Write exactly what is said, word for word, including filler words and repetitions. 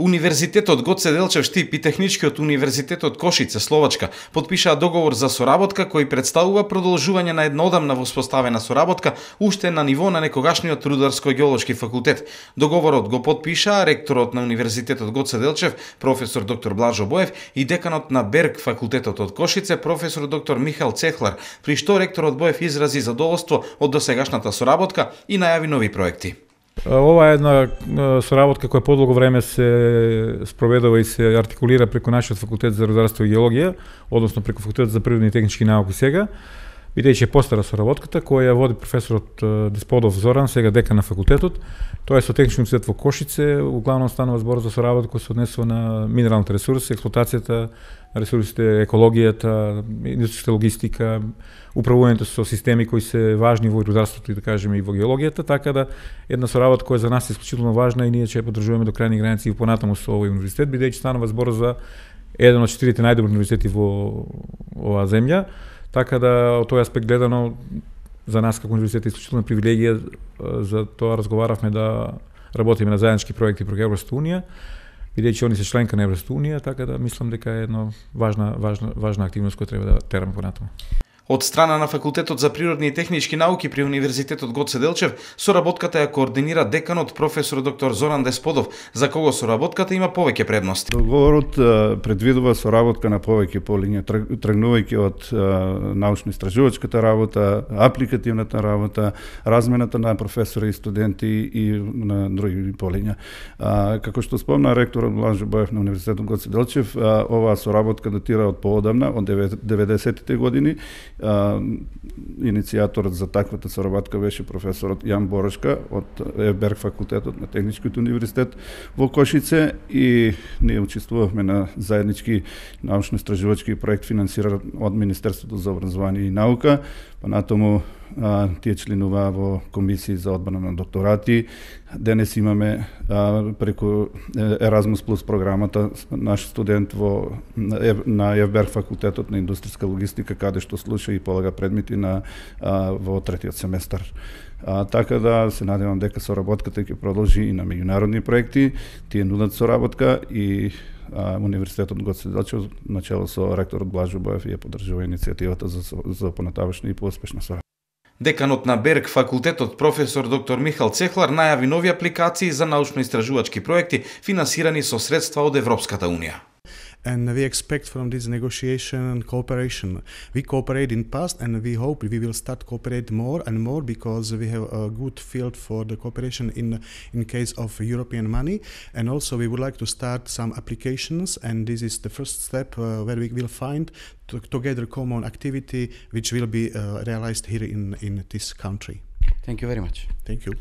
Универзитетот Гоце Делчев Штип и Техничкиот универзитетот Кошице, Словачка, потпишаа договор за соработка кој представува продолжување на едноодамна воспоставена соработка уште на ниво на некогашниот Рударско-геолошки факултет. Договорот го потпишаа ректорот на Универзитетот Гоце Делчев, професор доктор Блажо Боев, и деканот на Берг факултетот од Кошице, професор доктор Михаил Цехлар, при што ректорот Боев изрази задоволство од досегашната соработка и најави нови проекти. Ова е една соработка која подолго време се спроведува и се артикулира преку нашиот факултет за рударство и геологија, односно преку факултетот за природни и технички науки сега, бидејќи е постара соработката која води професорот Десподов Зоран, сега декан на факултетот. Тоа е со Технички универзитет во Кошице, углавно станува збор за соработка која се однесува на минералните ресурси, експлоатацијата на ресурсите, екологијата, индустријска логистика, управувањето со системи кои се важни во рударството и да кажеме и во геологијата, така да една соработка која за нас е исклучително важна и ние ќе ја поддржуваме до крајни граници и понатаму со овој универзитет, бидејќи станува збор за еден од четирите најдобри универзитети во оваа земја. Така да, од тој аспект гледано, за нас како универзитет е исклучителна привилегија, за тоа разговаравме да работиме на заеднички проекти преку Европската унија, бидејќи они се членка на Европската унија, така да мислам дека е една важна, важна, важна активност која треба да тераме понатаму. Од страна на Факултетот за природни и технички науки при Универзитетот Гоце Делчев, соработката ја координира деканот професор доктор Зоран Десподов, за кого соработката има повеќе предности. Договорот предвидува соработка на повеќе полиња, тргнувајќи од научно-истражувачката работа, апликативната работа, размената на професори и студенти и на други полиња. Како што спомна ректорот Блажо Боев на Универзитетот Гоце Делчев, оваа соработка датира од поодамна, од деветдесетите години. Иницијаторот за таквата соработка беше професорот Јан Борошка од Берг факултетот на Техничкиот универзитет во Кошице и ние учествувавме на заеднички научно-истражувачки проект финансиран од Министерството за образование и наука, понатаму тие членуваа во комисии за одбрана на докторати. Денес имаме а, преку Еразмус плюс програмата наш студент во на Евберг факултетот на индустријска логистика, каде што слуша и полага предмети на а, во третиот семестар. А, така да се надевам дека соработката ќе продолжи и на меѓународни проекти. Тие нудат соработка и а, Универзитетот Гоце Делчев начело со ректорот Блажо Боев ја поддржува иницијативата за за понатавашна и поуспешна соработка. Деканот на Берг факултетот професор доктор Михаил Цехлар најави нови апликации за научно-истражувачки проекти финансирани со средства од Европската унија. And we expect from this negotiation and cooperation. We cooperate in past and we hope we will start cooperate more and more because we have a good field for the cooperation in in case of European money. And also we would like to start some applications, and this is the first step uh, where we will find to, together common activity which will be uh, realized here in, in this country. Thank you very much. Thank you.